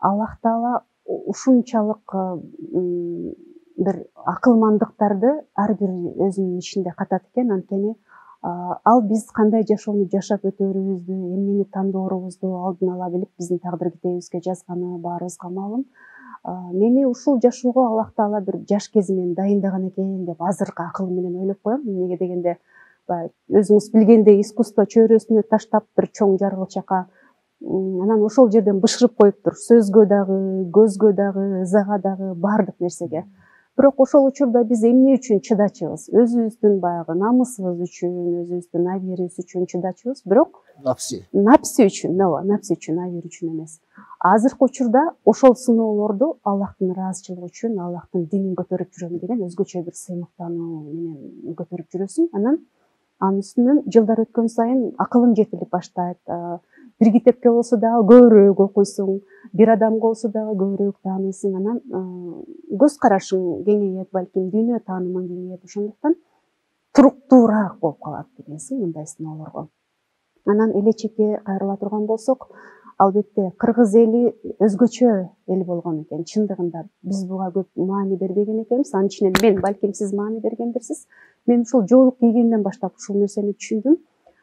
Аллах Таала ушунчалык бир акылмандыктарды ар бир өзүнүн ишинде катат экен. Анткени ал биз кандай жашоону жашап өтөрүбүздү, эмнени тандоорубузду алдын ала билип, биздин тагдыр китебибизге жазганы баарыбызга маалым. Мени ушул жашоого Аллах Таала бир жаш кезимден дайындаган экен деп азыркы акылым менен ойлоп коем. Эмнеге дегенде, өзүңүз билгендей, искусство чөйрөсүнө таштап бир чоң жаргылчакка, анан ошол жерден бышырып коюптур. Сөзгө дагы, көзгө дагы, ызага дагы, баардык нерсеге. Бирок ошол учурда биз эмне үчүн чыдачубыз? Өзүбүздүн баягы намысыбыз үчүн, өзүбүздүн абийирибиз үчүн чыдачубыз. Бирок напси үчүн, напси үчүн, абийир үчүн эмес. Азыркы учурда ошол сыноолорду Аллахтын ыраазычылыгы үчүн, Аллахтын динин көтөрүп жүрөм деген өзгөчө бир сыймыктануу менен көтөрүп жүрөсүң. Анан анын үстүнөн жылдар өткөн сайын акылың жетилип баштайт. Бир китепке болсо дагы көбүрөөк окуйсуң, бир адамга болсо дагы көбүрөөк тааныйсың. Анан көз карашың кеңейет, балким дүйнө таанымың кеңейет. Ошондуктан туруктуураак болуп калат дегенсиң мындай сыноолорго. Анан элечекке кайрыла турган болсок, албетте кыргыз эли өзгөчө эл болгон экен. Чындыгында биз буга көп маани бербеген экенбиз. Анын ичинен мен, балким сиз маани бергендирсиз. Мен ушул жоолук кийгенден баштап ушул нерсени түшүндүм.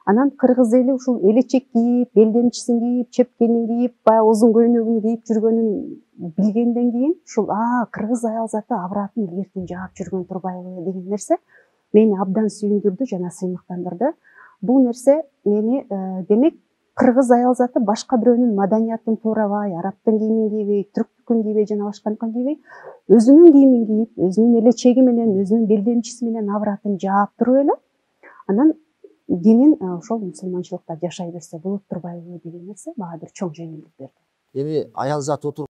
Анан кыргыз эли ушул элечек кийип, белдемчисин кийип, чепкенин кийип, баягы узун көйнөгүн кийип жүргөнүн билгенден кийин ушул кыргыз аял заты абратын илгертен жаап жүргөн турбайбы деген нерсе мени абдан сүйүндүрдү жана сыймыктандырды. Бул нерсе мени демек кыргыз аял заты башка бирөөнүн маданиятын туурабай, арабтын кийимин кийбей, түрктүкүн кийбей жана башканыкын кийбей, өзүнүн кийимин кийип, өзүнүн элечеги менен, өзүнүн белдемчиси менен абратын жаап туруп эле анан динин ошол мусулманчылыкта жашай берсе болот турбайбы деген нерсе мага бир чоң жеңилдик берди. Эми аял зат отуруп